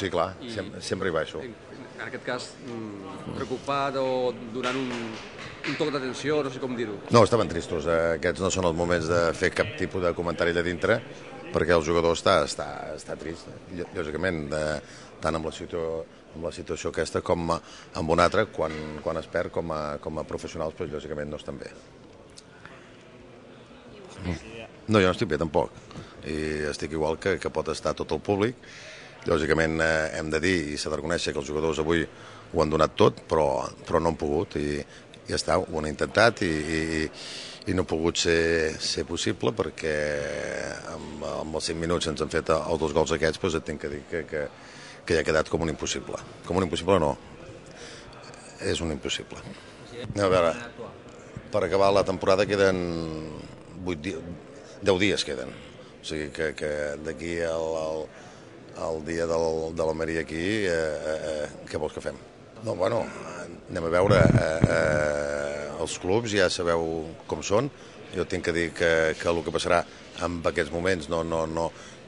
sí, clar, sempre hi baixo. En aquest cas, preocupat o donant un toc d'atenció, no sé com dir-ho. No, estaven tristos. Aquests no són els moments de fer cap tipus de comentari de dintre, perquè el jugador està trist, lògicament, tant amb la situació aquesta com amb una altra, quan es perd com a professionals, doncs, lògicament no estan bé. No, jo no estic bé tampoc, i estic igual que pot estar tot el públic. Lògicament hem de dir i s'ha de reconèixer que els jugadors avui ho han donat tot, però no han pogut, i ja està, ho han intentat i no ha pogut ser possible, perquè amb els 5 minuts ens han fet els 2 gols aquests, doncs et tinc que dir que ja ha quedat com un impossible. Com un impossible no, és un impossible. A veure, per acabar la temporada queden 10 dies queden, o sigui que d'aquí al dia de l'Almeria aquí, què vols que fem? No, bueno, anem a veure, els clubs ja sabeu com són, jo tinc que dir que el que passarà en aquests moments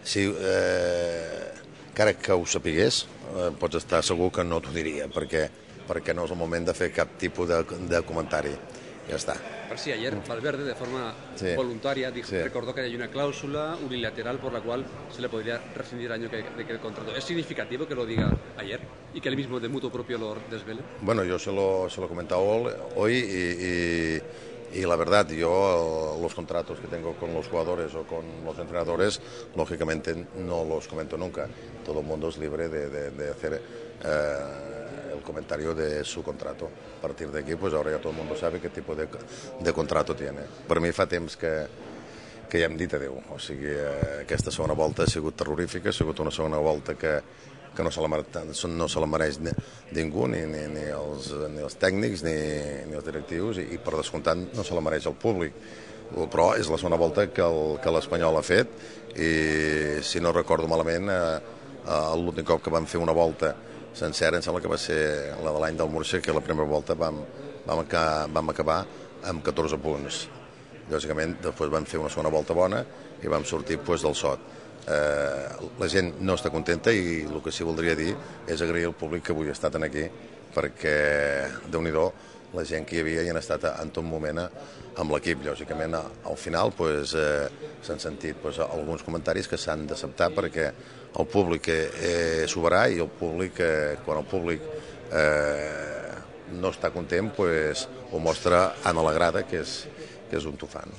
si encara que ho sapigués, pots estar segur que no t'ho diria, perquè no és el moment de fer cap tipus de comentari. Ya está. Sí, ayer Valverde, de forma voluntaria, recordó que hay una cláusula unilateral por la cual se le podría rescindir el año de que el contrato. ¿Es significativo que lo diga ayer y que él mismo de mutuo propio lo desvele? Bueno, yo se lo he comentado hoy y la verdad, yo los contratos que tengo con los jugadores o con los entrenadores, lógicamente no los comento nunca. Todo el mundo es libre de hacer el comentario de su contrato. A partir de aquí, pues ahora ya todo el mundo sabe qué tipo de contrato tiene. Per mi fa temps que ja hem dit adeu. O sigui, aquesta segona volta ha sigut terrorífica, ha sigut una segona volta que no se la mereix ningú, ni els tècnics ni els directius, i per descomptat no se la mereix el públic. Però és la segona volta que l'Espanyol ha fet, i si no recordo malament, l'últim cop que vam fer una volta sencera, em sembla que va ser la de l'any del Murcia, que la primera volta vam acabar amb 14 punts. Lògicament, després vam fer una segona volta bona i vam sortir del sot. La gent no està contenta, i el que sí voldria dir és agrair al públic que avui ha estat aquí, perquè, Déu-n'hi-do, la gent que hi havia i han estat en tot moment amb l'equip. Lògicament, al final s'han sentit alguns comentaris que s'han d'acceptar, perquè el públic és soberà, i el públic, quan el públic no està content, ho mostra a la grada, que és un tufant.